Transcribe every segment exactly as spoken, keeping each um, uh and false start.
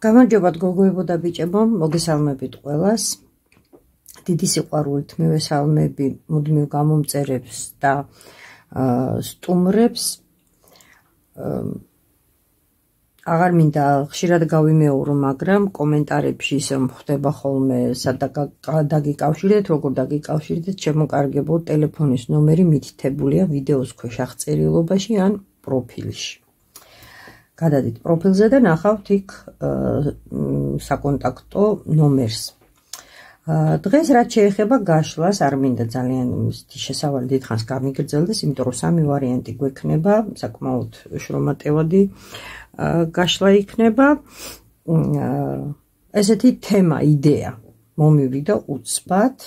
გამარჯობათ გოგოებო და ბიჭებო, მოგესალმებით ყველას. დიდი სიყვარულით მივესალმები მუდმივ გამომწერებს და სტუმრებს. აღარ მინდა ხშირად გავიმეორო, მაგრამ კომენტარებში ისე ხდება ხოლმე დაგიკავშირდეთ, როგორ დაგიკავშირდეთ, შემოკარგებო ტელეფონის ნომერი მითითებულია ვიდეოს ქვეშ აღწერილობაში ან პროფილში. გადადით პროფილზე და ნახავთ იქ საკონტაქტო ნომერს. დღეს რაც შეეხება გაშლას, არ მინდა ძალიან შესავალი დიდხანს გამიგრძელდეს, იმიტომ რომ სამი ვარიანტი გვექნება, საკმაოდ შრომატევადი გაშლა იქნება. ესეთი თემა, იდეა მომივიდა უცბად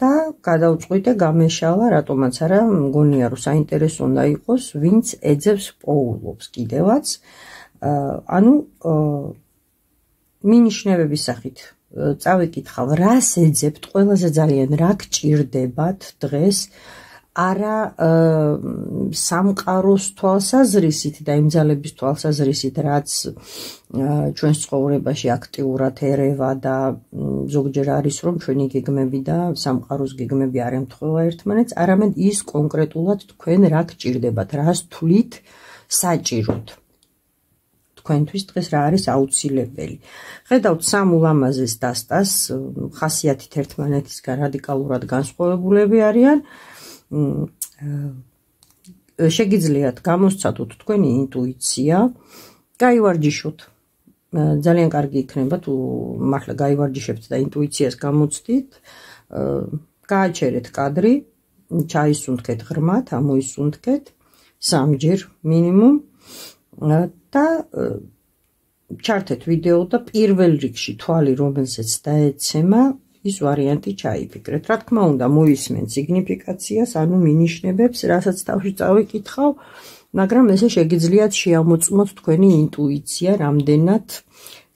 და გადავწყვიტე გამეშალა, რატომაც არა, მგონია რომ საინტერესო უნდა იყოს, ვინც ეძებს პოულობს კიდევაც. ანუ მინიშნებების სახით წავიკითხავ, რას ეძებთ, ყველაზე ძალიან რა გჭირდებათ დღეს, არა სამყაროს თვალსაზრისით და იმ ძალების თვალსაზრისით, რაც ჩვენს ცხოვრებაში აქტიურად ერევა და ზოგჯერ არის, რომ ჩვენი გეგმები და სამყაროს გეგმები არ ემთხვევა ერთმანეთს, არამედ ის კონკრეტულად თქვენ რა გჭირდებათ, რას თვლით საჭიროდ. თქვენთვის დღეს რა არის აუცილებელი. ხედავთ სამ ულამაზეს დასტას, ხასიათით ერთმანეთისგან რადიკალურად განსხვავებულები არიან. შეგიძლიათ გამოსცადოთ თქვენი ინტუიცია, გაივარჯიშოთ. ძალიან კარგი იქნება თუ მართლა გაივარჯიშებთ და ინტუიციას გამოცდით. გააჩერეთ კადრი, ჩაისუნთქეთ ღრმად, ამოისუნთქეთ სამჯერ მინიმუმ და ჩართეთ ვიდეო და პირველ რიგში თვალი, რომელზეც დაეცემა, ის ვარიანტი ჩაიფიქრეთ. რა თქმა უნდა, მოისმენთ სიგნიფიკაციას, ანუ მინიშნებებს, რასაც თავში წავიკითხავ, მაგრამ ესე შეგიძლიათ შეამოწმოთ თქვენი ინტუიცია, რამდენად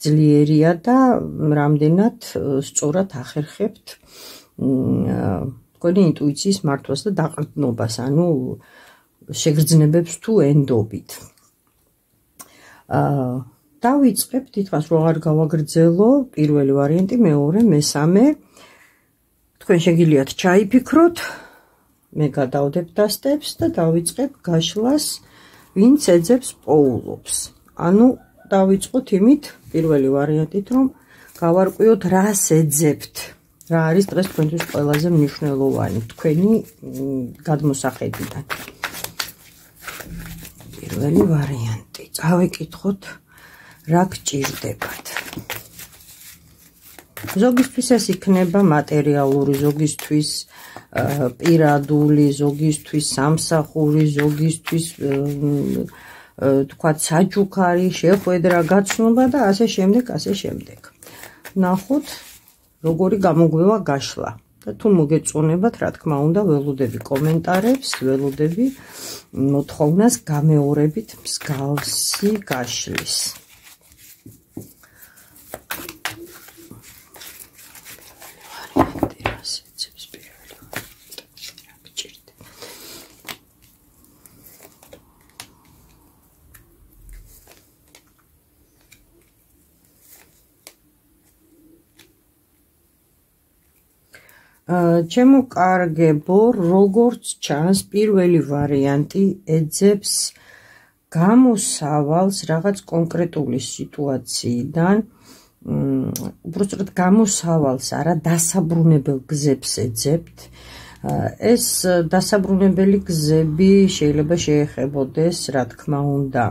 ძლიერია და რამდენად სწორად ახერხებთ თქვენი ინტუიციის მართვას და დაყრდნობას, ანუ შეგრძნებებს თუ ენდობით. დავიწყებ, თითქოს რომ არ გავაგრძელო, პირველი ვარიანტი, მეორე, მესამე. თქვენ შეგიძლიათ ჩაიფიქროთ, მე გადავდებ დასტებს და დავიწყებ გაშლას, ვინც ეძებს პოულობს. ანუ დავიწყოთ იმით, პირველი ვარიანტით, რომ გავარკვიოთ, რას ეძებთ, რა არის დღეს თქვენთვის ყველაზე მნიშვნელოვანი თქვენი გადმოსახედიდან. პირველი ვარიანტი. წავიკითხოთ, რა გჭირდებათ. ზოგისთვის ეს იქნება მატერიალური, ზოგისთვის პირადული, ზოგისთვის სამსახური, ზოგისთვის თქვათ საჩუქარი, შეხვედრა, გაცნობა და ასე შემდეგ, ასე შემდეგ. ნახოთ, როგორი გამოგვევა გაშლა. და თუ მოგეწონებათ, რა თქმა უნდა, ველოდები კომენტარებს, ველოდები მოთხოვნას გამეორებით მსგავსი გაშლის. ჩემო კარგებო, როგორც ჩანს, პირველი ვარიანტი ეძებს გამოსავალს რაღაც კონკრეტული სიტუაციიდან, უბრალოდ გამოსავალს არა, დასაბრუნებელ გზებს ეძებთ. ეს დასაბრუნებელი გზები შეიძლება შეეხებოდეს, რა თქმა უნდა,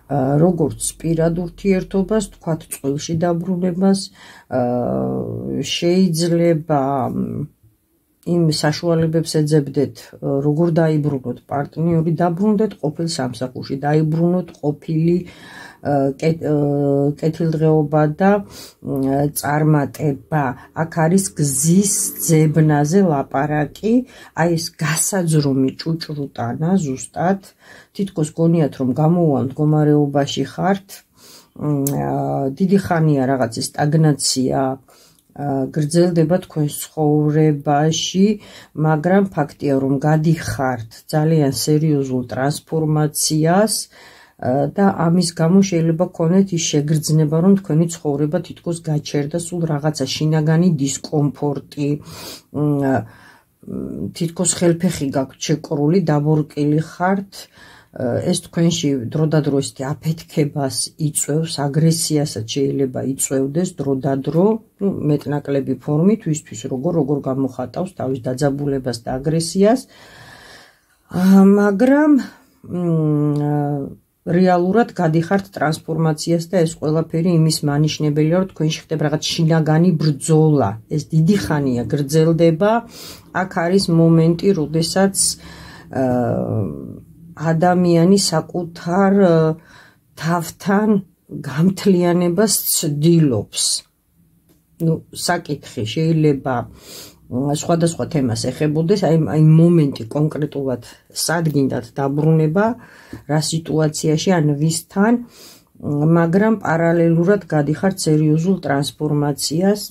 როგორც პირად ურთიერთობას, თქვათ წყვილში დაბრუნებას, შეიძლება იმ საშუალებებს ეძებდეთ, როგორ დაიბრუნოთ პარტნიორი, დაბრუნდეთ ყოფილ სამსახურში, დაიბრუნოთ ყოფილი კეთილდღეობა და წარმატება. აქ არის გზის ძებნაზე ლაპარაკი, აი ეს გასაძრომი ჭუჭრუტანა ზუსტად, თითქოს გონიათ რომ გამოუვალ მდგომარეობაში ხართ, დიდი ხანია რაღაც სტაგნაცია გრძელდება თქვენს ცხოვრებაში, მაგრამ ფაქტია რომ გადიხართ ძალიან სერიოზულ ტრანსფორმაციას და ამის გამო შეიძლება გქონდეთ ის შეგრძნება, რომ თქვენი ცხოვრება თითქოს გაჩერდა, სულ რაღაცა შინაგანი დისკომფორტი, თითქოს ხელფეხი გაქვთ შეკრული, დაბორკილი ხართ, ეს თქვენში დროდადრო ესეთი აფეთქებას იწვევს, აგრესიასაც შეიძლება იწვევდეს დროდადრო, მეტნაკლები ფორმით, ვისთვის როგორ როგორ გამოხატავს თავის დაძაბულებას და აგრესიას, მაგრამ რეალურად გადიხართ ტრანსფორმაციას და ეს ყველაფერი იმის მანიშნებელია, რომ თქვენში ხდება რაღაც შინაგანი ბრძოლა, ეს დიდი ხანია გრძელდება, აქ არის მომენტი, როდესაც ადამიანი საკუთარ თავთან გამთლიანებას ცდილობს. ნუ საკითხი შეიძლება სხვადასხვა თემას ეხებოდეს, აი აი მომენტი კონკრეტულად სად გინდათ დაბრუნება, რა სიტუაციაში ან ვისთან, მაგრამ პარალელურად გადიხართ სერიოზულ ტრანსფორმაციას.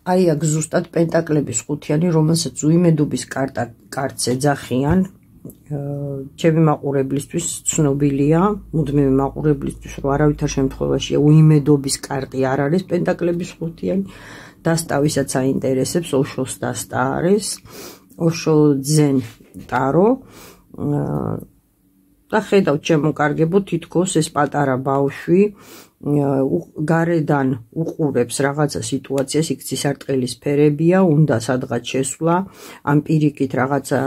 აი აქ ზუსტად პენტაკლების ხუთიანი, რომელსაც უიმედობის კარტა კარტს ეძახიან, ჩემი მაყურებლისთვის ცნობილია, მუდმივი მაყურებლისთვის, რომ არავითარ შემთხვევაში უიმედობის კარტი არ არის პენტაკლების ხუთიანი. დასტავისაც აინტერესებს, ოშოს დასტა არის, ოშო ძენ ტარო და ხედავთ შემოკარგებო, თითქოს ეს პატარა ბავშვი გარედან უყურებს რაღაცა სიტუაციას, იქ ცისარტყელის ფერებია, უნდა სადღაც შესვლა, ამ პირიქით რაღაცა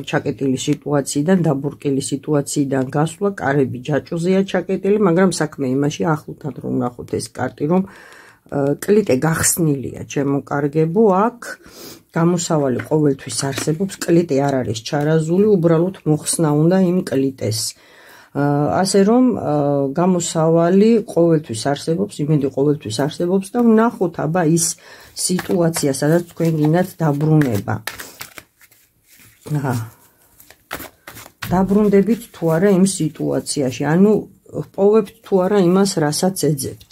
ჩაკეტილი სიტუაციიდან, დაბურკილი სიტუაციიდან გასვლა, კარები ჯაჭვზეა ჩაკეტილი, მაგრამ საქმე იმაში ახლოთ რომ ნახოთ ეს კარტი, რომ კლიტე გახსნილია შემოკარგებო, აქ გამოსავალი ყოველთვის არსებობს, კლიტე არ არის ჩარაზული, უბრალოდ მოხსნა უნდა იმ კლიტეს. ასე რომ გამოსავალი ყოველთვის არსებობს, იმედი ყოველთვის არსებობს და ვნახოთ აბა ის სიტუაცია, სადაც თქვენ გინდათ დაბრუნება. დაბრუნდებით თუ არა იმ სიტუაციაში, ანუ პოვებთ თუ არა იმას, რასაც ეძებთ.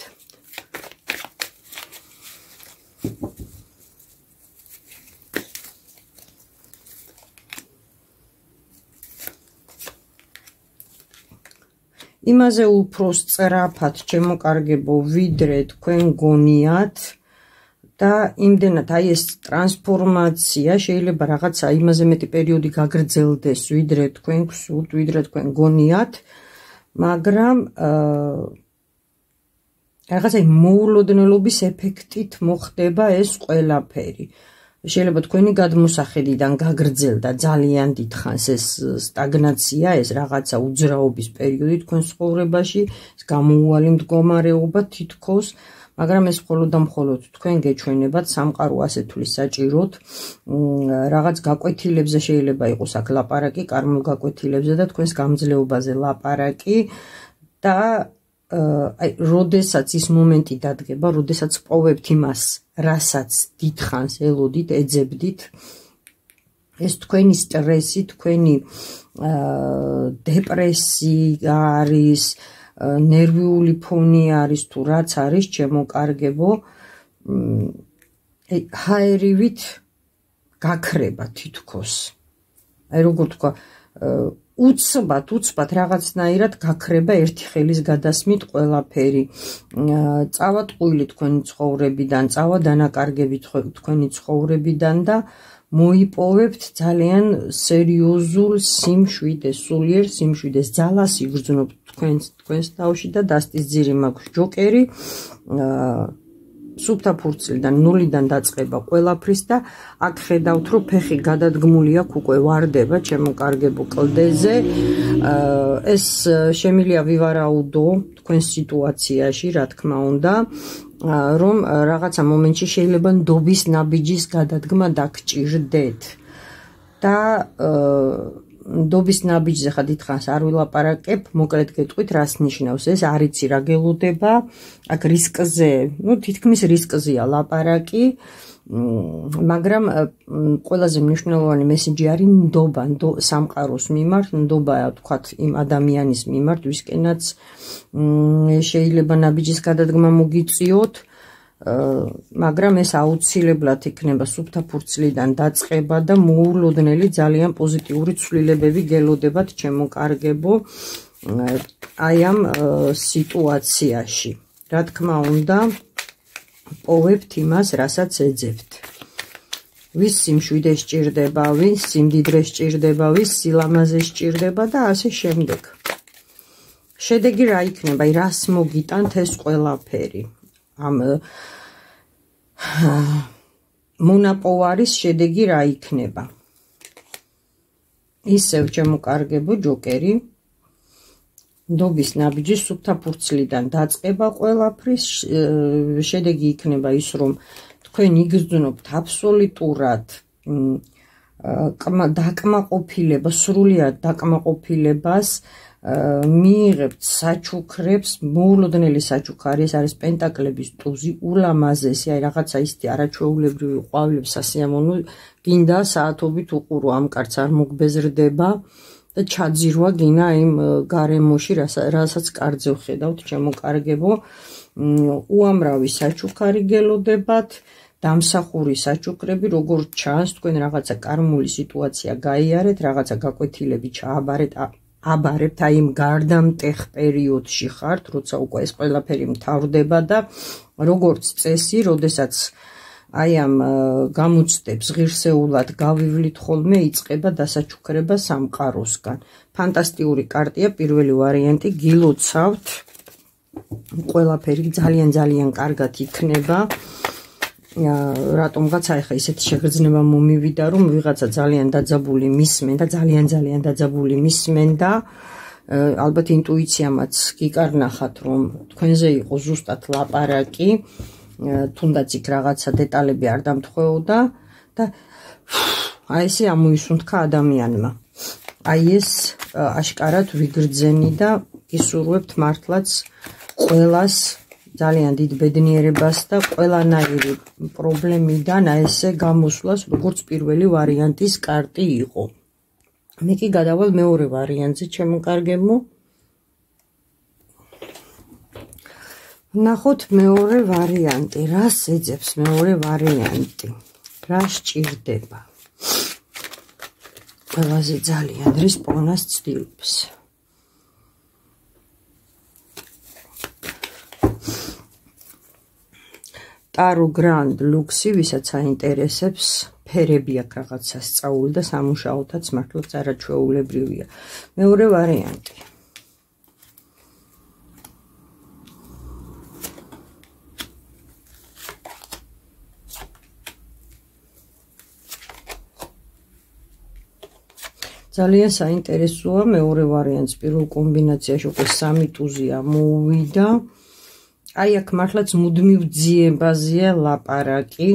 იმაზე უფრო სწრაფად შემოკარგებო, ვიდრე თქვენ გონიათ და იმდენად აი ეს ტრანსფორმაცია შეიძლება რაღაცა იმაზე მეტი პერიოდი გაგრძელდეს, ვიდრე თქვენ გსურთ, ვიდრე თქვენ გონიათ, მაგრამ რაღაცა მოულოდნელობის ეფექტით მოხდება ეს ყველაფერი. შეიძლება თქვენი გადმოსახედიდან გაგრძელდა ძალიან დიდხანს ეს სტაგნაცია, ეს რაღაცა უძრაობის პერიოდი თქვენ ცხოვრებაში, ეს გამოუვალი მდგომარეობა თითქოს, მაგრამ ეს მხოლოდ და მხოლოდ თქვენ გეჩვენებათ, სამყარო ასე თulis საჭიროთ, რაღაც გაკვეთილებზე შეიძლება იყოს აქ ლაპარაკი, კარმულ გაკვეთილებზე და თქვენს გამძლეობაზე ლაპარაკი და აი, როდესაც ის მომენტი დადგება, როდესაც პოვებთ იმას, რასაც დიდხანს ელოდით, ეძებდით, ეს თქვენი სტრესი, თქვენი დეპრესია არის, ნერვიული ფონი არის, თუ რაც არის, შემოკარგებო, ჰაერივით გაქრება თითქოს. აი, როგორ თქვა, უცბად, უცბად რაღაცნაირად გაქრება ერთი ხელის გადასმით ყველაფერი. წავა ტყუილი თქვენი ცხოვრებიდან, წავა დანაკარგები თქვენი ცხოვრებიდან და მოიპოვებთ ძალიან სერიოზულ სიმშვიდეს, სულიერ სიმშვიდეს, ძალას იგრძნობთ თქვენს თქვენს თავში და დასტის ძირი მაქვს ჯოკერი. სუფთა ფურცლიდან, ნულიდან დაწყება ყველაფრის და აქ ხედავთ, რომ ფეხი გადადგმული აქვს, უკვე ვარდება შემოკარგებო კლდეზე. ეს შემილია ვივარაუდო თქვენ სიტუაციაში, რა თქმა უნდა, რომ რაღაცა მომენტში შეიძლება ნდობის ნაბიჯის გადადგმა დაგჭირდეთ. და ნდობის ნაბიჯზე ხა დიდხანს არ ვილაპარაკებ, მოკლედ გეტყვით, რას ნიშნავს ეს, არ იცი რა გელოდება, აქ რისკზე, ну, თითქმის რისკზეა ლაპარაკი, მაგრამ ყველაზე მნიშვნელოვანი მესიჯი არის ნდობა, სამყაროს მიმართ, ნდობა, თქვათ, იმ ადამიანის მიმართ, ვისკენაც შეიძლება ნაბიჯის გადადგმა მოგიწიოთ, მაგრამ ეს აუცილებლად იქნება სუფთა ფურცლიდან დაწყება და მოულოდნელი ძალიან პოზიტიური ცვლილებები გელოდებათ შემოკარგებო. აი ამ სიტუაციაში. Რა თქმა უნდა, პოვებთ იმას, რასაც ეძებთ. ვის სიმშვიდე სჭირდება, ვის სიმდიდრე სჭირდება, ვის სილამაზე სჭირდება და ასე შემდეგ. შედეგი რა იქნება? აი რას მოგიტანთ ეს ყველაფერი? ამ მონაპოვარის შედეგი რა იქნება? ისევ ჩემოკარგებო ჯოკერი ნდობის ნაბიჯის სუფთა ფურცლიდან დაწყება ყველაფრის შედეგი იქნება ის რომ თქვენ იგრძნობთ აბსოლუტურად დაკმაყოფილება, სრულიად დაკმაყოფილებას მიიღებთ საჩუქრებს, მოულოდნელი საჩუქარი, ეს არის პენტაკლების ტუზი, ულამაზესი, აი რაღაცა ისეთი არაჩვეულებრივი ყვავილები სასიამოვნო, გინდა საათობით უყურო ამ კაცს არ მოგბეზრდება და ჩაძირვა გინა იმ გარემოში, რასაც კარძე ვხედავთ, ჩემოკარგებო, უამრავი საჩუქარი გელოდებათ, დამსახური საჩუქრები, როგორც ჩანს, თქვენ რაღაცა კარმული სიტუაცია გაიარეთ, რაღაცა გაკვეთილები ჩააბარეთ, აბარებთ აი იმ გარდამტეხ პერიოდში ხართ, როცა უკვე ეს ყველაფერი მთავრდება და როგორც წესი, როდესაც აი ამ გამოცდებს ღირსეულად გავივლით ხოლმე, იწყება დასაჩუქრება სამყაროსგან. ფანტასტიკური კარტია, პირველი ვარიანტი, გილოცავთ, ყველაფერი ძალიან ძალიან კარგად იქნება. რატომღაც აი ხა ისეთი შეგრძნება მომივიდა, რომ ვიღაცა ძალიან დაძაბული მისმენ და ძალიან ძალიან დაძაბული მისმენ და ალბათ ინტუიციამაც გიკარნახათ, რომ თქვენზე იყო ზუსტად ლაპარაკი, თუნდაც იქ რაღაცა დეტალები არ დამთხოვდა და აი ესე ამოისუნთქა ადამიანმა. აი ეს აშკარად ვიგრძენი და გისურვებთ მართლაც ყველას ძალიან დიდ ბედნიერებას და ყველანაირი პრობლემიდან აი ესე გამოსვლას, როგორც პირველი ვარიანტის კარტი იყო. მე კი გადავალ მეორე ვარიანტზე, ჩემოკარგებო. ნახოთ მეორე ვარიანტი, რას ეძებს მეორე ვარიანტი? რა სჭირდება? ყველაზე ძალიან რის პოვნას ცდილობს. ტარო გრანდ ლუქსი, ვისაც აინტერესებს, ფერები აქვს რაღაცა სწავლული და სამუშაოთაც მართლაც არაჩვეულებრივია. მეორე ვარიანტი. ძალიან საინტერესოა მეორე ვარიანტს, პირველ კომბინაციაში უკვე სამი ტუზი ამოუვიდა. აი აქ მართლაც მუდმივ ძიებაზეა ლაპარაკი.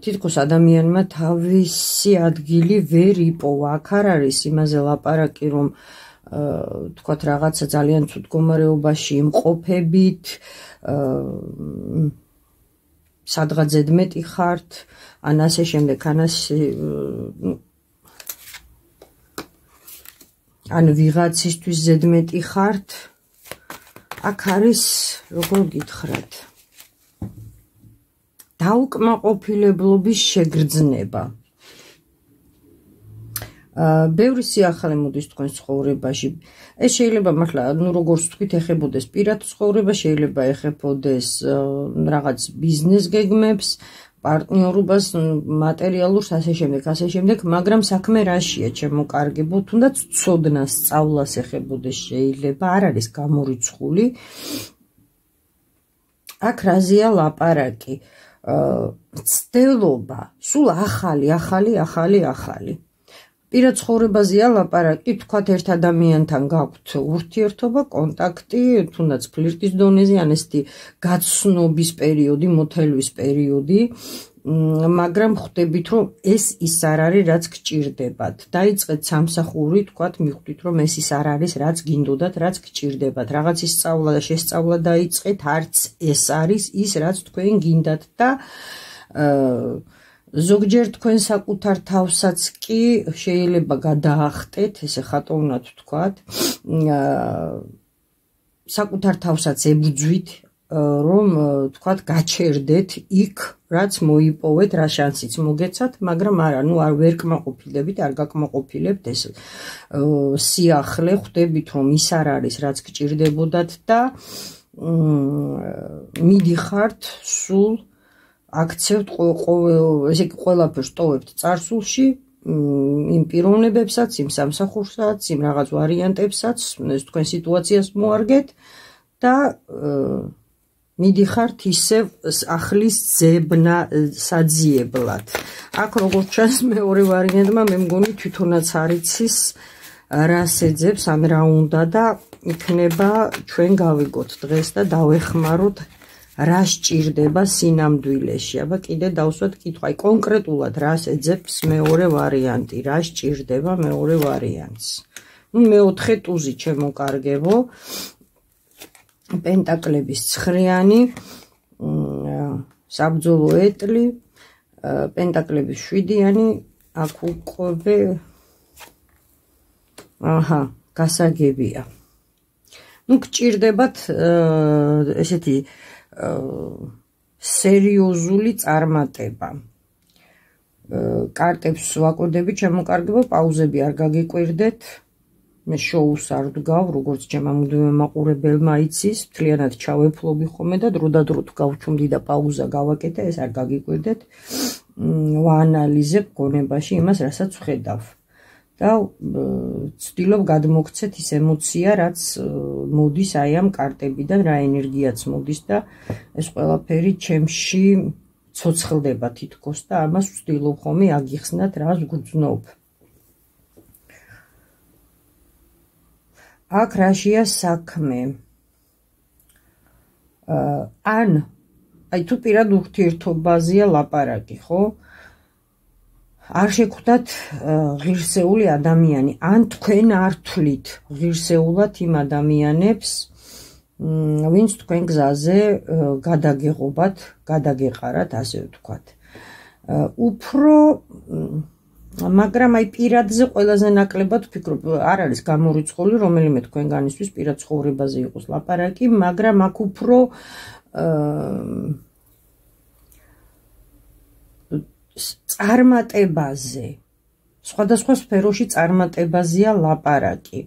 თითქოს ადამიანმა თავისი ადგილი ვერ იპოვა. აქ არ არის იმაზე ლაპარაკი, რომ თქვათ რაღაცა ძალიან ცუდ მდგომარეობაში იმყოფებით, სადღაც ზედმეტი ხართ, ან ასე შემდეგ, ან ასე ან ვიღაცისთვის ზედმეტი ხართ. აქ არის, როგორ გითხრათ, დაუკმაყოფილებლობის შეგრძნება. ბევრი სიახლე მოდის თქვენს ცხოვრებაში. ეს შეიძლება მართლა, ну როგორც თქვით, ეხებოდეს პირად ცხოვრება, შეიძლება ეხებოდეს რაღაც ბიზნეს გეგმებს, პარტნიორობას, მატერიალურს, ასე შემდეგ, ასე შემდეგ, მაგრამ საქმე რაშია, ჩემოკარგებო, თუნდაც ცოდნას, სწავლას ეხებოდეს შეიძლება, არ არის გამორიცხული. აქ რაზეა ლაპარაკი? ცდელობა, სულ ახალი, ახალი, ახალი, ახალი. პირად ცხოვრებაზეა ლაპარაკი, თქვათ ერთ ადამიანთან გაქვთ ურთიერთობა, კონტაქტი, თუნდაც ფლირტის დონეზე, ან ესეთი გაცნობის პერიოდი, მოთელვის პერიოდი, მაგრამ ხვდებით, რომ ეს ის არ არის, რაც გჭირდებათ. დაიწყეთ სამსახური, თქვათ, მიხვდით, რომ ეს ის არ არის, რაც გინდოდათ, რაც გჭირდებათ. რაღაცის სწავლა და შესწავლა დაიწყეთ, არც ეს არის ის, რაც თქვენ გინდათ და ზოგჯერ თქვენ საკუთარ თავსაც კი შეიძლება გადაახტეთ, ესე ხატოვნად ვთქვათ, საკუთარ თავსაც ებრძვით, რომ თქვათ გაჩერდეთ იქ, რაც მოიპოვეთ, რა შანსიც მოგეცათ, მაგრამ არა, ნუ არ ვერ კმაყოფილდებით, არ გაკმაყოფილებთ ეს სიახლე, ხვდებით რომ ის არ არის, რაც გჭირდებოდათ და მიდიხართ სულ აქცევთ ესე იგი ყველაფერს ტოვებთ წარსულში, იმ პიროვნებებსაც, იმ სამსახურსაც, იმ რაღაც ვარიანტებსაც, ეს თქვენ სიტუაციას მოარგეთ და მიდიხართ ისევ ახლის ძებნა საძიებლად. აქ როგორც ჩანს მეორე ვარიანტმა მე მგონი თვითონაც არ იცის რას ეძებს ან რა უნდა და იქნება ჩვენ გავიგოთ დღეს და დავეხმაროთ რა სჭირდება სინამდვილეში. აბა კიდე დავსვათ კითხვა, აი კონკრეტულად რას ეძებს მეორე ვარიანტი, რა სჭირდება მეორე ვარიანტს. ნუ მეოთხე ტუზი ჩემო კარგებო, პენტაკლების ცხრიანი, საბრძოლო ეტლი, პენტაკლების შვიდიანი, აქ უკვე აჰა, გასაგებია. ნუ გჭირდებათ ესეთი სერიოზული წარმატება. კარტებს ვაკოდები, ჩემო კარგებო, პაუზები არ გაგიკვირდეთ. მე შოუს არ ვდგავ, როგორც ჩემ ამოდვე მაყურებელმა იცის, მთლიანად ჩავეფლობი ხოლმე და დროდადრო თუ გავჩუმდი და პაუზა გავაკეთე, ეს არ გაგიკვირდეთ. ვაანალიზებ გონებაში იმას, რასაც ვხედავ. და ვცდილობ გადმოგცეთ ის ემოცია, რაც მოდის აი ამ კარტებიდან, რა ენერგიაც მოდის და ეს ყველაფერი ჩემში ცოცხლდება თითქოს და ამას ვცდილობ ხოლმე აგიხსნათ, რას ვგრძნობ. აქ რაშია საქმე? ან აი თუ პირად ურთიერთობაზეა ლაპარაკი, ხო? არ შეხვდათ ღირსეული ადამიანი, ან თქვენ არ თვლით ღირსეულად იმ ადამიანებს, ვინც თქვენ გზაზე გადაგეღობათ, გადაგეყარათ, ასე ვთქვათ. უფრო, მაგრამ აი პირადზე ყველაზე ნაკლებად ვფიქრობ, არ არის გამორიცხული რომელიმე თქვენგანისთვის პირად ცხოვრებაზე იყოს ლაპარაკი, მაგრამ აქ უფრო წარმატებაზე, სხვადასხვა სფეროში წარმატებაზეა ლაპარაკი.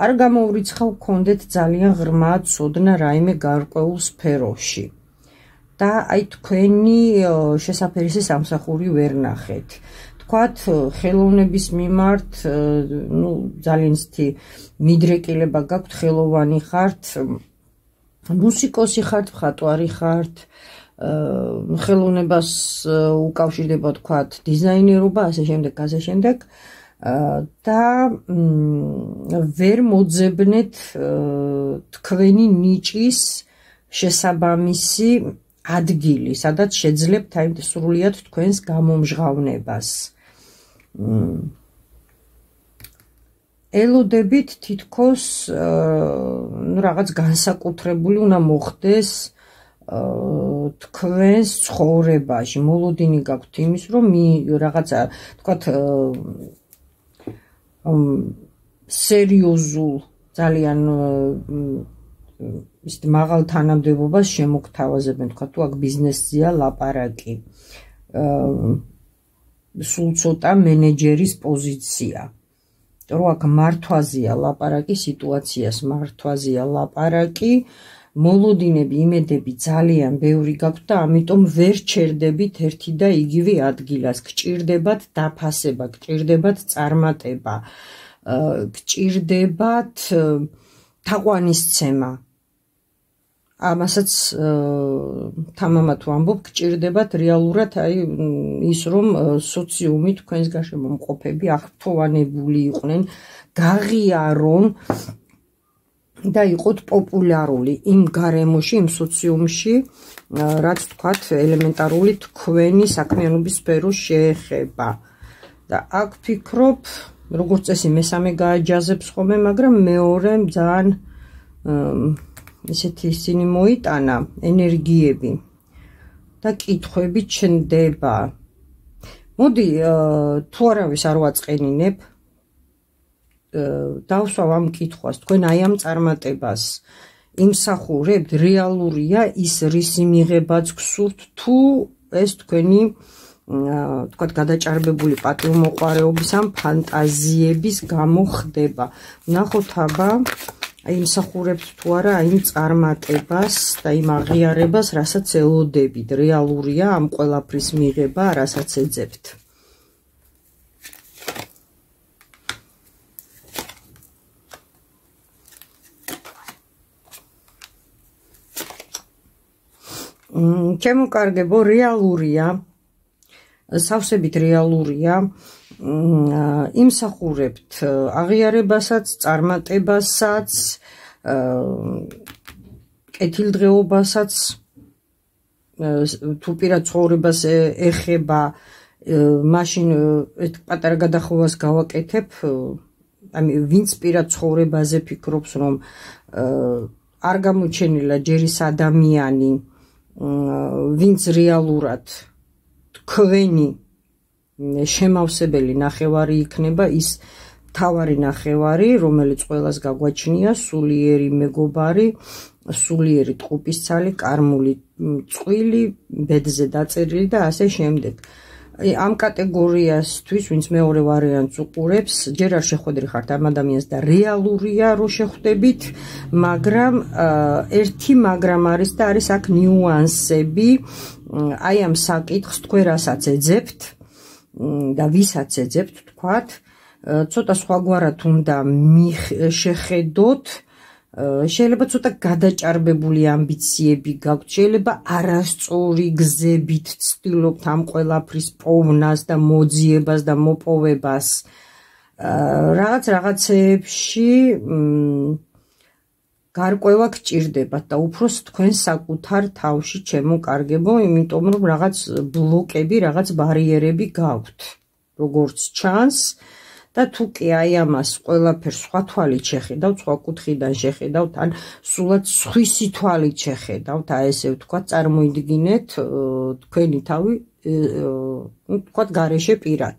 არ გამოვრიცხავ გქონდეთ ძალიან ღრმა ცოდნა რაიმე გარკვეულ სფეროში. და აი თქვენი შესაფერისი სამსახური ვერ ნახეთ. თქვათ ხელოვნების მიმართ, ნუ ძალიან ისეთი მიდრეკილება გაქვთ, ხელოვანი ხართ, მუსიკოსი ხართ, მხატვარი ხართ, ხელოვნებას უკავშირდება თქვათ დიზაინერობა, ასე შემდეგ, ასე შემდეგ და ვერ მოძებნეთ თქვენი ნიჭის შესაბამისი ადგილი, სადაც შეძლებთ აი სრულიად თქვენს გამომჟღავნებას. ელოდებით თითქოს ნუ რაღაც განსაკუთრებული უნდა მოხდეს თქვენს ცხოვრებაში. მოლოდინი გაქვთ იმის, რომ რაღაცა თქვათ სერიოზულ ძალიან ისეთ მაღალ თანამდებობას შემოგთავაზებენ, თქვათ თუ აქ ბიზნესზეა ლაპარაკი. სულ ცოტა მენეჯერის პოზიცია. რომ აქ მართვაზეა ლაპარაკი, სიტუაციას მართვაზეა ლაპარაკი, მოლოდინები, იმედები ძალიან ბევრი გაქვთ და ამიტომ ვერ ჩერდებით ერთი და იგივე ადგილას. გჭირდებათ დაფასება, გჭირდებათ წარმატება, გჭირდებათ თაყვანისცემა. ამასაც თამამად ვამბობ, გჭირდებათ რეალურად აი ის რომ სოციუმი თქვენს გარშემო მყოფები აღფრთოვანებული იყვნენ, გაღიარონ და იყოთ პოპულარული იმ გარემოში, იმ სოციუმში, რაც თქვათ ელემენტარული თქვენი საქმიანობის სფეროს შეეხება. და აქ ფიქრობ, როგორც წესი მესამე გააჯაზებს ხოლმე, მაგრამ მეორე ძალიან ისეთი ისინი მოიტანა ენერგიები და კითხვები ჩნდება. მოდი თუ არავის არ ვაწყენინებ, დავსვავ ამ კითხვას, თქვენ აი ამ წარმატებას იმსახურებთ, რეალურია ის რისი მიღებაც გსურთ თუ ეს თქვენი თქვათ გადაჭარბებული პატივმოყვარეობის ან ფანტაზიების გამო ხდება. ვნახოთ აბა იმსახურებთ თუ არა იმ წარმატებას და იმ აღიარებას, რასაც ელოდებით. რეალურია ამ ყველაფრის მიღება, რასაც ეძებთ. ჩემოკარგებო, რეალურია, სავსებით რეალურია, იმსახურებთ აღიარებასაც, წარმატებასაც, კეთილდღეობასაც, თუ პირად ცხოვრებას ეხება, მაშინ პატარა გადახოვას გავაკეთებ, ვინც პირად ცხოვრებაზე ფიქრობს, რომ არ გამოჩენილა ჯერ ის ადამიანი, ვინც რეალურად თქვენი შემავსებელი ნახევარი იქნება, ის თავარი ნახევარი, რომელიც ყველას გაგვაჩნია, სულიერი მეგობარი, სულიერი ტყუპისცალი, კარმული წყვილი, ბედზე დაწერილი და ასე შემდეგ. ამ კატეგორიასთვის, ვინც მეორე ვარიანტს უყურებს, ჯერ არ შეხვედრი ხართ ამ ადამიანს და რეალურია, რომ შეხვდებით, მაგრამ ერთი მაგრამ არის და არის აქ ნიუანსები, აი ამ საკითხს თქვენ რასაც ეძებთ და ვისაც ეძებთ, თქვათ, ცოტა სხვაგვარად უნდა შეხედოთ, შეიძლება ცოტა გადაჭარბებული ამბიციები გაქვთ, შეიძლება არასწორი გზებით ცდილობთ ამ ყველაფრის პოვნას და მოძიებას და მოპოვებას, რაღაც რაღაცეებში გარკვევა გჭირდებათ და უფროს თქვენ საკუთარ თავში ჩემოკარგებო, იმიტომ რომ რაღაც ბლოკები, რაღაც ბარიერები გაქვთ, როგორც ჩანს. და თუ კი აი ამას ყველაფერს სხვა თვალით შეხედავთ, სხვა კუთხიდან შეხედავთ, ან სულად სხვისი თვალით შეხედავთ, აი ესე ვთქვათ, წარმოიდგინეთ თქვენი თავი, ვთქვათ, გარეშე პირად.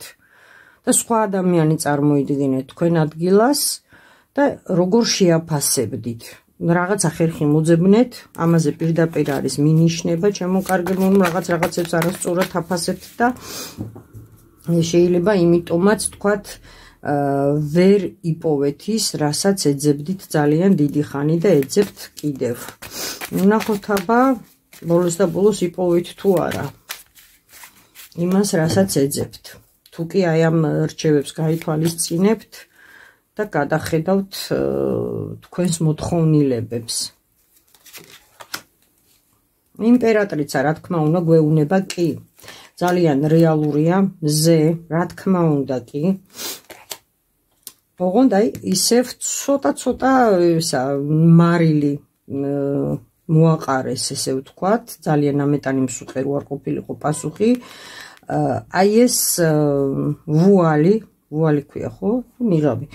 და სხვა ადამიანი წარმოიდგინეთ თქვენ ადგილას და როგორ შეაფასებდით. რაღაცა ხერხი მოძებნეთ, ამაზე პირდაპირ არის მინიშნება, ჩემოკარგებო, რაღაც რაღაცებს არასწორად აფასებთ და შეიძლება იმიტომაც თქვათ ვერ იპოვეთ ის, რასაც ეძებდით ძალიან დიდი ხანი და ეძებთ კიდევ. ვნახოთ აბა, ბოლოს და ბოლოს იპოვეთ თუ არა იმას, რასაც ეძებთ. თუ კი აი ამ რჩევებს გაითვალისწინებთ და გადახედავთ თქვენს მოთხოვნილებებს. იმპერატრიცა, რა თქმა უნდა, გვეუბნება კი. ძალიან რეალურია, მზე, რა თქმა უნდა კი. ოღონდ აი ისევ ცოტა-ცოტა ისა მარილი მოაყარეს, ესე ვთქვათ, ძალიან ამეტანი მსუყე რო არ ყოფილიყო პასუხი. აი ეს ვუალი, ვუალი ქვია ხო? ნიღაბი.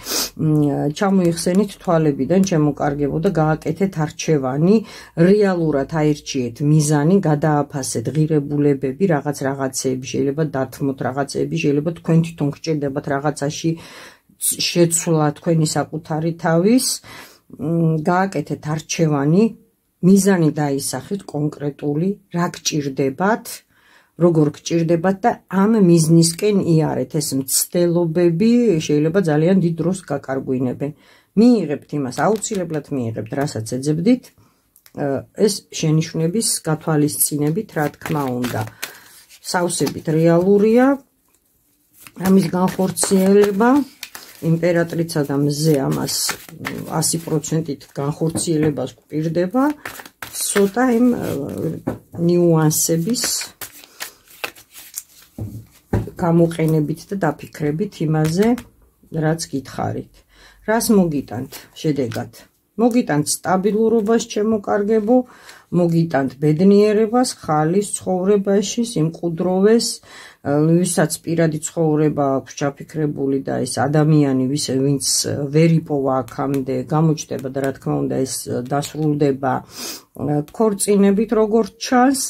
ჩამოიხსენით თვალებიდან, ჩემოკარგებო და გააკეთეთ არჩევანი, რეალურად აირჩიეთ მიზანი, გადააფასეთ ღირებულებები, რაღაც რაღაცეები, შეიძლება დათმოთ რაღაცეები, შეიძლება თქვენ თვითონ გჭირდებათ რაღაცაში შეცვლა თქვენი საკუთარი თავის, გააკეთეთ არჩევანი, მიზანი დაისახეთ კონკრეტული, რა გჭირდებათ, როგორ გჭირდებათ და ამ მიზნისკენ იარეთ. ეს მცდელობები შეიძლება ძალიან დიდ დროს გაკარგვინებენ. მიიღებთ იმას, აუცილებლად მიიღებთ, რასაც ეძებდით, ეს შენიშვნების გათვალისწინებით, რა თქმა უნდა. სავსებით რეალურია, ამის განხორციელება, იმპერატრიცა და მზე ამას ასი პროცენტით განხორციელებას გვპირდება, ცოტა იმ ნიუანსების გამოყენებით და დაფიქრებით იმაზე, რაც გითხარით. რას მოგიტანთ შედეგად? მოგიტანთ სტაბილურობას, ჩემოკარგებო, მოგიტანთ ბედნიერებას, ხალის ცხოვრებაში, სიმყუდროვეს, ვისაც პირადი ცხოვრება აქვს ჩაფიქრებული და ეს ადამიანი, ვინც ვერ იპოვა აქამდე, გამოჩნდება და რა თქმა უნდა ეს დასრულდება ქორწინებით, როგორც ჩანს,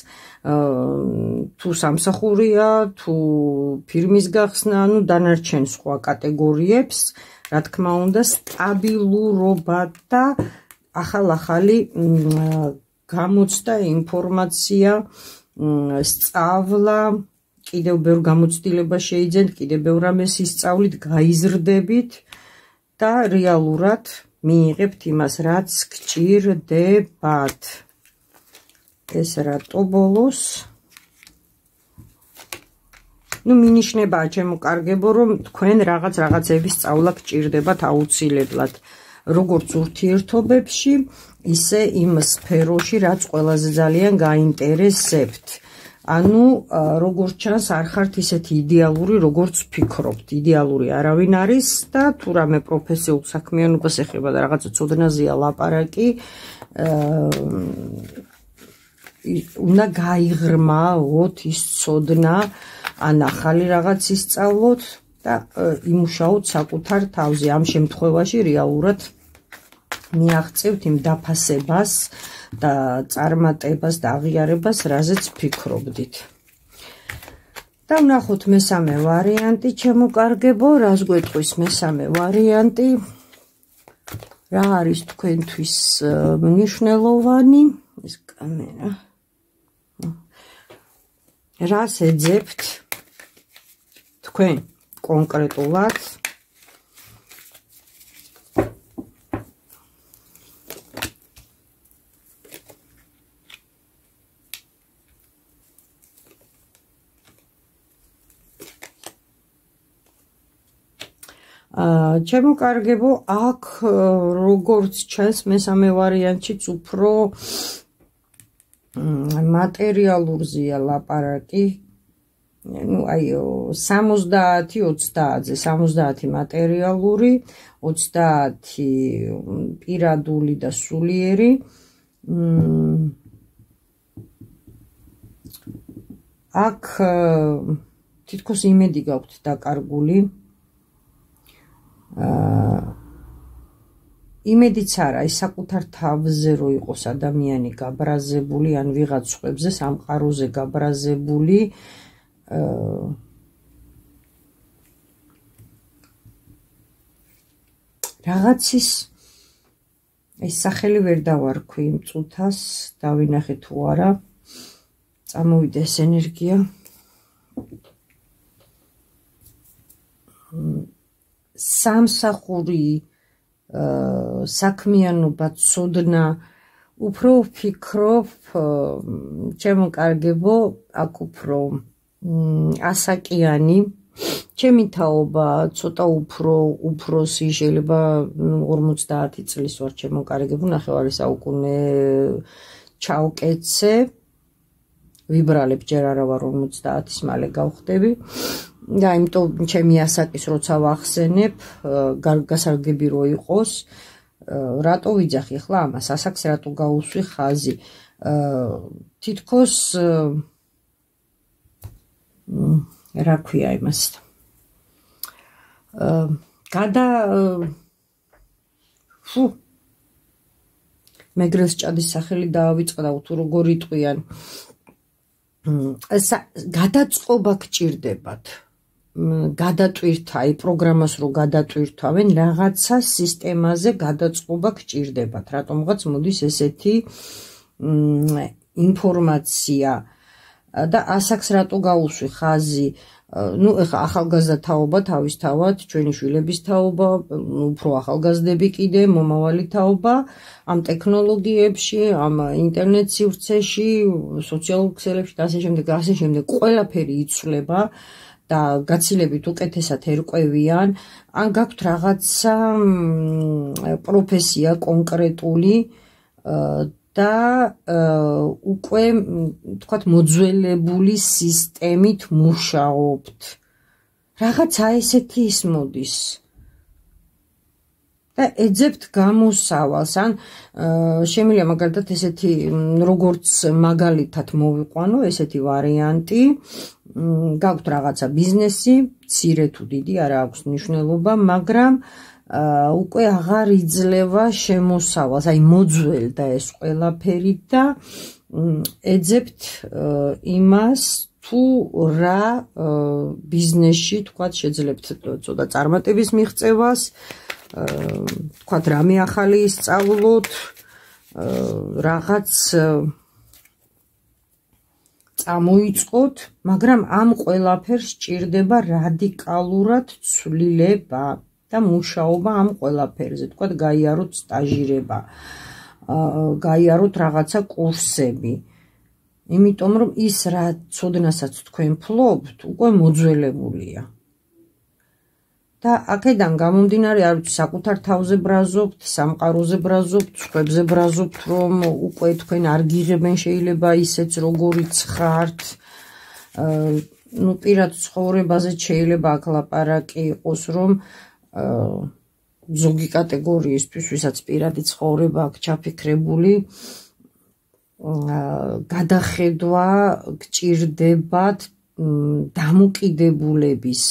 თუ სამსახურია, თუ ფირმის გახსნა, ანუ დანარჩენ სხვა კატეგორიებს, რა თქმა უნდა, სტაბილურობა და ახალ-ახალი გამოცდა ინფორმაცია, სწავლა, კიდევ ბევრ გამოცდილება შეიძენთ, კიდევ ბევრ რამეს ისწავლით, გაიზრდებით და რეალურად მიიღებთ იმას, რაც გჭირდებათ. ეს რატო ბოლოს? ნუ მინიშნებაა ჩემო კარგებო, რომ თქვენ რაღაც რაღაცების სწავლა გჭირდებათ აუცილებლად. როგორც ურთიერთობებში, ისე იმ სფეროში, რაც ყველაზე ძალიან გაინტერესებთ. ანუ, როგორც ჩანს, არ ხართ ისეთი იდეალური, როგორც ფიქრობთ. იდეალური არავინ არის და თუ რამე პროფესიულ საქმიანობას ეხება და რაღაცა ცოდნაზეა ლაპარაკი, უნდა გაიღრმაოთ ის ცოდნა, ან ახალი რაღაც ისწავლოთ და იმუშაოთ საკუთარ თავზე. ამ შემთხვევაში რეალურად მიაღწევთ იმ დაფასებას და წარმატებას და აღიარებას, რაზეც ფიქრობდით. და ვნახოთ მესამე ვარიანტი, ჩემო კარგებო, რას გვეტყვის მესამე ვარიანტი? რა არის თქვენთვის მნიშვნელოვანი? ეს კამერა. რას ეძებთ თქვენ კონკრეტულად? ჩემო კარგებო, აქ როგორც ჩანს მესამე ვარიანტშიც უფრო მატერიალურზეა ლაპარაკი. ნუ აი სამოცდაათი ოცდაათზე, სამოცდაათი მატერიალური, ოცდაათი პირადული და სულიერი. აქ თითქოს იმედი გაქვთ დაკარგული. იმედიც არა, ის საკუთარ თავზე რო იყოს ადამიანი გაბრაზებული, ან ვიღაც სხვებზე სამყაროზე გაბრაზებული, რაღაცის ეს სახელი ვერ დავარქვი იმ წუთას, დავინახე თუ არა, წამოვიდა ეს ენერგია. სამსახური საქმიანობა, ცოდნა, უფრო ვფიქრობ, ჩემო კარგებო, აქ უფრო ასაკიანი, ჩემი თაობა ცოტა უფრო უფროსი, შეიძლება ორმოცდაათი წლის ვარ, ჩემო კარგებო, ნახევარი საუკუნე ჩავკეცე, ვიბრალებ, ჯერ არა ვარ ორმოცდაათის მალე გავხდები. და იმიტომ ჩემი ასაკის როცა ვახსენებ, გასარგები რო იყოს, რატო ვიძახი ხლა ამას, ასაკს რატო გაუსვი ხაზი. თითქოს რა ქვია იმას. გადა ფუ მეგრელს ჭადის სახელი დაავიწყდა, თუ როგორ იტყვიან. გადაწყობა გჭირდებათ. გადატვირთა, აი პროგრამას რო გადატვირთავენ, რაღაცა სისტემაზე გადაწყობა გჭირდებათ. რატომღაც მოდის ესეთი ინფორმაცია და ასაკს რატო გაუსვი ხაზი. ნუ ეხა ახალგაზრდა თაობა თავისთავად, ჩვენი შვილების თაობა, უფრო ახალგაზრდები კიდე, მომავალი თაობა, ამ ტექნოლოგიებში, ამ ინტერნეტ სივრცეში, სოციალურ ქსელებში და ასე შემდეგ, ასე შემდეგ, ყველაფერი იცვლება. და გაცილებით უკეთესად ერკვევიან, ან გაქვთ რაღაცა პროფესია კონკრეტული და უკვე თქვათ მოძველებული სისტემით მუშაობთ. რაღაცა ესეთი ის მოდის. და ეძებთ გამოსავალს, ან შემიძლია მაგალითად ესეთი როგორც მაგალითად მოვიყვანო ესეთი ვარიანტი, გაქვთ რაღაცა ბიზნესი, მცირე თუ დიდი არა აქვს მნიშვნელობა, მაგრამ უკვე აღარ იძლევა შემოსავალს, აი მოძველდა ეს ყველაფერი და ეძებთ იმას, თუ რა ბიზნესში თქვათ შეძლებთ ცოტა წარმატების მიღწევას, თქვათ რამე ახალი ისწავლოთ, რაღაც წამოიწყოთ, მაგრამ ამ ყველაფერს სჭირდება რადიკალურად ცვლილება და მუშაობა ამ ყველაფერზე, თქვათ გაიაროთ სტაჟირება, გაიაროთ რაღაცა კურსები. იმიტომ რომ ის რა ცოდნასაც თქვენ ფლობთ, უკვე მოძველებულია. და აქედან გამომდინარე, არ ვიცი, საკუთარ თავზე ბრაზობთ, სამყაროზე ბრაზობთ, სხვებზე ბრაზობთ, რომ უკვე თქვენ არ გიღებენ შეიძლება ისეც როგორიც ხართ. ნუ პირად ცხოვრებაზე შეიძლება აქ ლაპარაკი იყოს, რომ ზოგი კატეგორიისთვის, ვისაც პირადი ცხოვრება აქვს ჩაფიქრებული, გადახედვა გჭირდებათ დამოკიდებულების,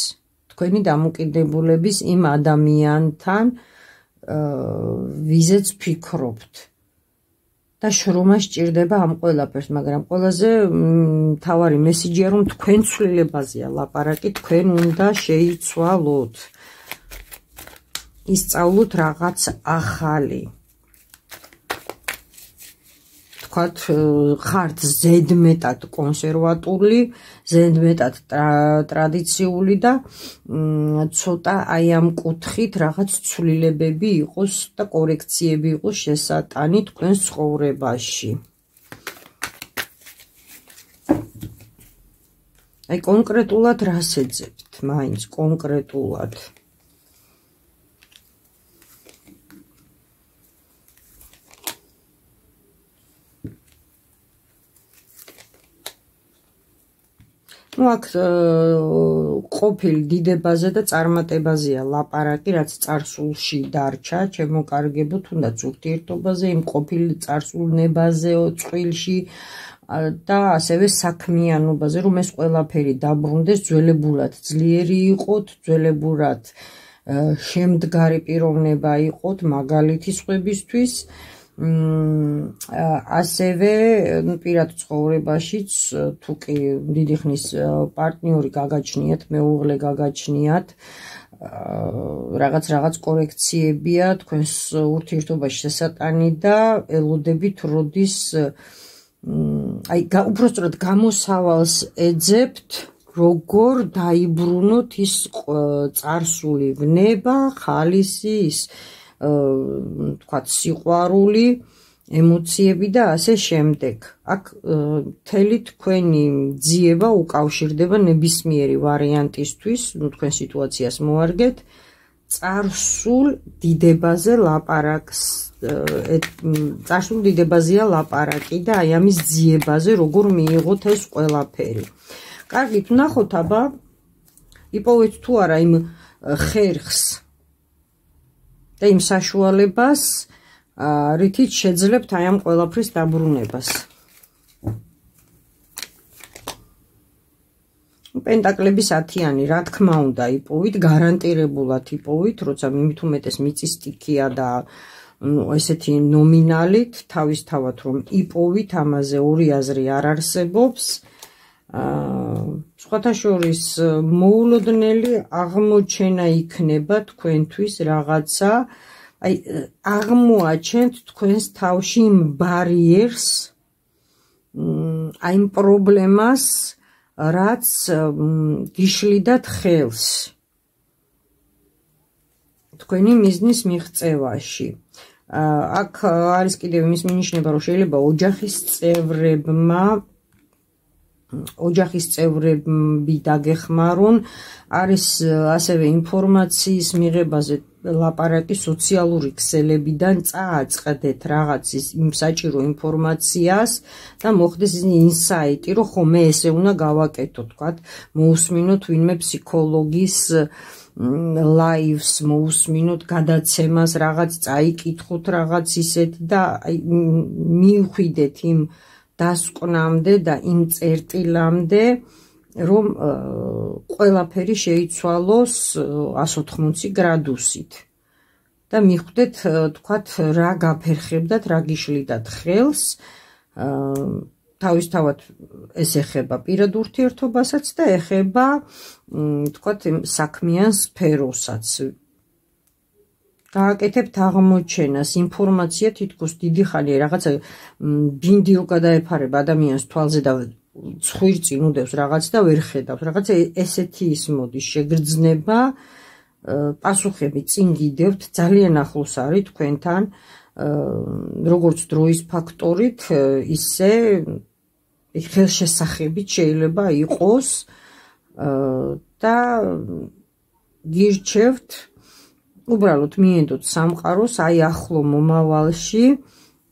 თქვენი დამოკიდებულების იმ ადამიანთან, ვიზეც ფიქრობთ. და შრომა სჭირდება ამ ყველაფერს, მაგრამ ყველაზე მთავარი მესიჯია, რომ თქვენ ცვლილებაზეა ლაპარაკი, თქვენ უნდა შეიცვალოთ. ისწავლოთ რაღაც ახალი. თქვათ, ხართ ზედმეტად კონსერვატული, ზედმეტად ტრადიციული და ცოტა აი ამ კუთხით რაღაც ცვლილებები იყოს და კორექციები იყოს შესატანი თქვენ ცხოვრებაში. აი კონკრეტულად რას ეძებთ, მაინც კონკრეტულად. ნუ აქ ყოფილ დიდებაზე და წარმატებაზეა ლაპარაკი, რაც წარსულში დარჩა, ჩემო კარგებო, თუნდაც ურთიერთობაზე, იმ ყოფილ წარსულნებაზე, წყვილში და ასევე საქმიანობაზე, რომ ეს ყველაფერი დაბრუნდეს, ძველებურად ძლიერი იყოთ, ძველებურად შემდგარი პიროვნება იყოთ, მაგალითი სხვებისთვის. ასევე პირად ცხოვრებაშიც თუ კი დიდი ხნის პარტნიორი გაგაჩნიათ, მეუღლე გაგაჩნიათ, რაღაც რაღაც კორექციებია თქვენს ურთიერთობაში შესატანი და ელოდებით როდის აი უпростоრად გამოსავალს ეძებთ, როგორ დაიბრუნოთ ის წარსული ვნება, ხალისი, ის თქვათ სიყვარული, ემოციები და ასე შემდეგ. აქ მთელი თქვენი ძიება უკავშირდება ნებისმიერი ვარიანტისთვის, ნუ თქვენ სიტუაციას მოარგეთ, წარსულ დიდებაზე ლაპარაკს, წარსულ დიდებაზეა ლაპარაკი და აი ამის ძიებაზე, როგორ მიიღოთ ეს ყველაფერი. კარგით, ვნახოთ აბა, იპოვეთ თუ არა იმ ხერხს და იმ საშუალებას, რითიც შეძლებთ აი ამ ყველაფრის დაბრუნებას. პენტაკლების ათიანი, რა თქმა უნდა, იპოვით, გარანტირებულად იპოვით, როცა მით უმეტეს მიწის სტიქია და ესეთი ნომინალით, თავისთავად რომ იპოვით, ამაზე ორი აზრი არ არსებობს. სხვათა შორის მოულოდნელი აღმოჩენა იქნება თქვენთვის რაღაცა, აი აღმოაჩენთ თქვენს თავში იმ ბარიერს, აი იმ პრობლემას, რაც გიშლიდათ ხელს თქვენი მიზნის მიღწევაში. აქ არის კიდევ იმის მინიშნება, რომ შეიძლება ოჯახის წევრებმა ოჯახის წევრები დაგეხმარონ, არის ასევე ინფორმაციის მიღებაზე ლაპარაკი სოციალური ქსელებიდან წააწყდეთ რაღაც იმ საჭირო ინფორმაციას და მოხდეს ინსაიტი, რომ ხო მე ესე უნდა გავაკეთო, თქვათ, მოусმინოთ ვინმე ფსიქოლოგის ლაივს, მოусმინოთ გადაცემას, რაღაც წაიკითხოთ, რაღაც ისეთი და მივხვიდეთ იმ დასკვნამდე და იმ წერტილამდე, რომ ყველაფერი შეიცვალოს εκατს ოთხმოცი გრადუსით და მიხვდეთ, თქვათ, რა გაფერხებდათ, რა გიშლიდათ ხელს, თავისთავად ეს ეხება პირად ურთიერთობასაც და ეხება, თქვათ, საქმიან სფეროსაც. გააკეთებთ აღმოჩენას, ინფორმაცია თითქოს დიდი ხანია რაღაცა ბინდი რო გადაეფარება ადამიანს თვალზე და ცხვირწინ უდევს რაღაც და ვერ ხედავს. რაღაცა ესეთი ის მოდის შეგრძნება, პასუხები წინ გიდევთ, ძალიან ახლოს არის თქვენთან, როგორც დროის ფაქტორით, ისე ხელშესახებით შეიძლება იყოს და გირჩევთ უბრალოდ მიენდოთ სამყაროს, აი ახლო მომავალში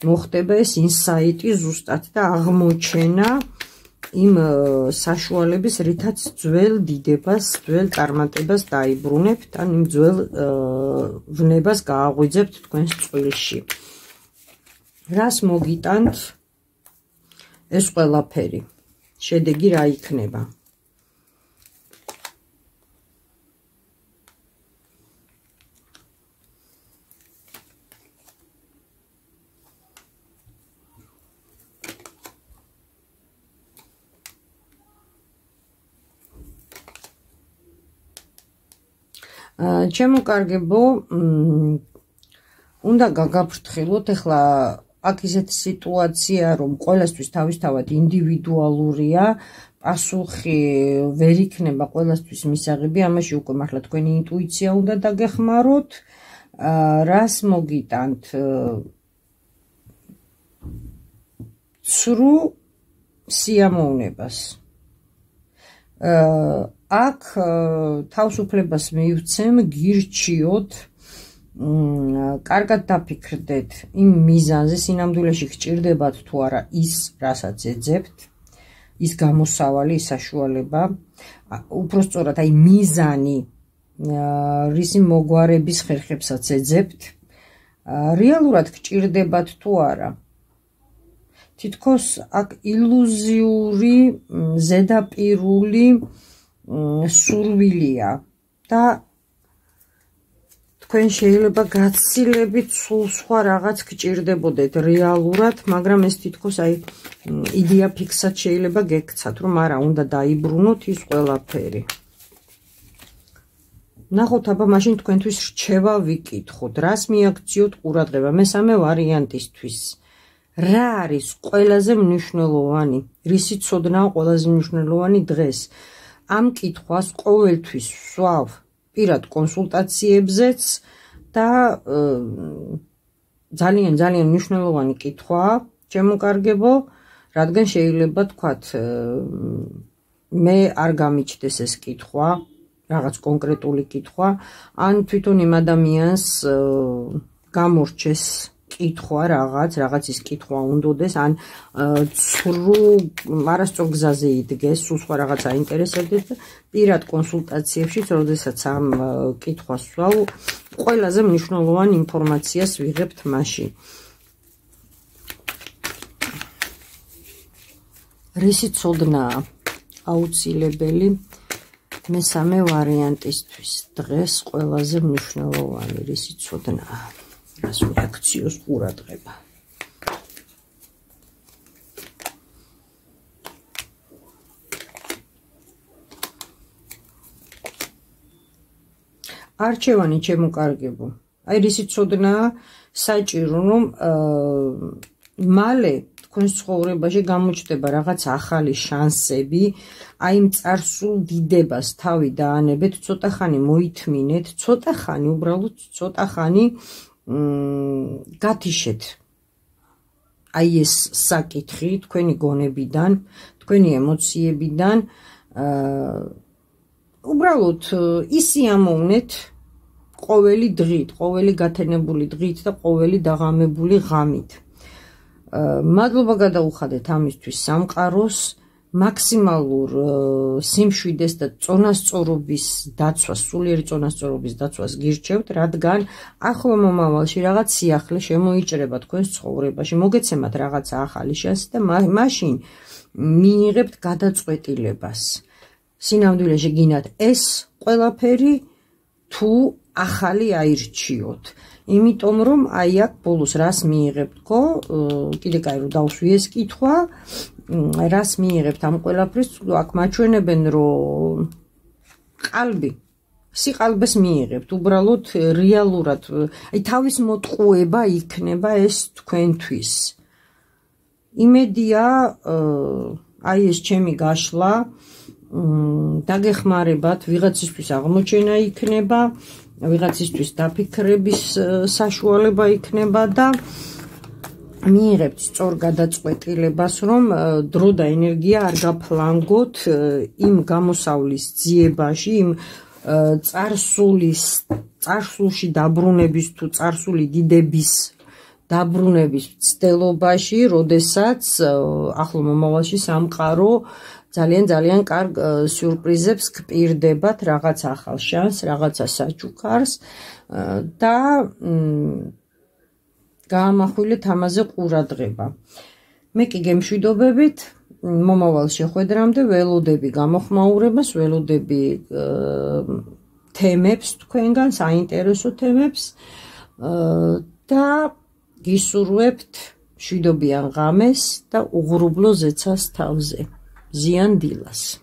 მოხდება ეს ინსაიტი ზუსტად და აღმოჩენა იმ საშუალების, რითაც ძველ დიდებას, ძველ წარმატებას დაიბრუნებთ, ან იმ ძველ ვნებას გააღვიძებთ თქვენს წყვილში. რას მოგიტანთ ეს ყველაფერი? შედეგი რა იქნება? ჩემო კარგებო, უნდა გაგაფრთხილოთ, ეხლა აქ ისეთი სიტუაცია, რომ ყველასთვის თავისთავად ინდივიდუალურია, პასუხი ვერ იქნება ყველასთვის მისაღები, ამაში უკვე მართლა თქვენი ინტუიცია უნდა დაგეხმაროთ. რას მოგიტანთ? ცრუ სიამოვნებას. აქ თავისუფლებას მივცემ, გირჩიოთ, კარგად დაფიქრდეთ იმ მიზანზე, სინამდვილეში გჭირდებათ თუ არა ის, რასაც ეძებთ, ის გამოსავალი, ის საშუალება, უпростоრად აი მიზანი, რისი მოგვარების ხერხებსაც ეძებთ, რეალურად გჭირდებათ თუ არა. თითქოს აქ ილუზიური, ზედაპირული სურვილია და თქვენ შეიძლება გაცილებით სულ სხვა რაღაც გჭირდებოდეთ რეალურად, მაგრამ ეს თითქოს აი იდეა ფიქსად შეიძლება გექცათ, რომ არა, უნდა დაიბრუნოთ ის ყველაფერი. ნახოთ, აბა მაშინ თქვენთვის რჩევა ვიკითხოთ, რას მიაქციოთ ყურადღება მესამე ვარიანტისთვის. რა არის ყველაზე მნიშვნელოვანი? რისი ცოდნაა ყველაზე მნიშვნელოვანი დღეს? ამ კითხვას ყოველთვის ვსვავ პირად კონსულტაციებზეც და ძალიან ძალიან მნიშვნელოვანი კითხვაა, ჩემო კარგებო, რადგან შეიძლება თქვათ მე არ გამიჩნდეს ეს კითხვა, რაღაც კონკრეტული კითხვა, ან თვითონ იმ ადამიანს გამორჩეს კითხვა რაღაც, რაღაცის კითხვა უნდოდეს, ან ცრუ არასწორ გზაზე იდგეს, სულ სხვა რაღაც აინტერესებდეს და პირად კონსულტაციებში, როდესაც ამ კითხვას ვსვავ, ყველაზე მნიშვნელოვან ინფორმაციას ვიღებთ მაშინ. რისი ცოდნაა აუცილებელი მესამე ვარიანტისთვის? დღეს ყველაზე მნიშვნელოვანი რისი ცოდნაა? რას რეაქციოს ყურადღება? არჩევანი, ჩემო კარგებო, აი რისი ცოდნაა საჭირო, რომ მალე თქვენს ცხოვრებაში გამოჩნდება რაღაც ახალი შანსები, აი იმ წარსულ დიდებას თავი დაანებეთ, ცოტა ხანი მოითმინეთ, ცოტა ხანი, უბრალოდ ცოტა ხანი გათიშეთ აი ეს საკითხი თქვენი გონებიდან, თქვენი ემოციებიდან, უბრალოდ ისიამოვნეთ ყოველი დღით, ყოველი გათენებული დღით და ყოველი დაღამებული ღამით. მადლობა გადაუხადეთ ამისთვის სამყაროს, მაქსიმალურ სიმშვიდეს და წონასწორობის დაცვას, სულიერი წონასწორობის დაცვას გირჩევთ, რადგან ახლო მომავალში რაღაც სიახლე შემოიჭრება თქვენს ცხოვრებაში, მოგეცემათ რაღაცა ახალი შანსი და მაშინ მიიღებთ გადაწყვეტილებას. სინამდვილეში გინათ ეს ყველაფერი თუ ახალი აირჩიოთ. იმიტომ რომ აი აქ ბოლოს რას მიიღებთ ხო? კიდე კაი რომ დავსვი ეს კითხვა, რას მიიღებთ ამ ყველაფრის? აქ მაჩვენებენ რომ ყალბი, სიყალბეს მიიღებთ, უბრალოდ რეალურად, აი თავის მოტყუება იქნება ეს თქვენთვის. იმედია, აი ეს ჩემი გაშლა, დაგეხმარებათ, ვიღაცისთვის აღმოჩენა იქნება, ვიღაცისთვის დაფიქრების საშუალება იქნება და მიიღებთ სწორ გადაწყვეტილებას, რომ დრო და ენერგია არ გაფლანგოთ იმ გამოსავლის ძიებაში, იმ წარსულის, წარსულში დაბრუნების თუ წარსული დიდების დაბრუნების ცდილობაში, როდესაც ახლო მომავალში სამყარო ძალიან ძალიან კარგ სიურპრიზებს გპირდებათ, რაღაც ახალ შანსს, რაღაცა საჩუქარს და გაამახვილეთ ამაზე ყურადღება. მე კი გემშვიდობებით, მომავალ შეხვედრამდე ველოდები გამოხმაურებას, ველოდები თემებს თქვენგან, საინტერესო თემებს და გისურვებთ მშვიდობიან ღამეს და უღრუბლო ზეცას თავზე. ზიან დილას.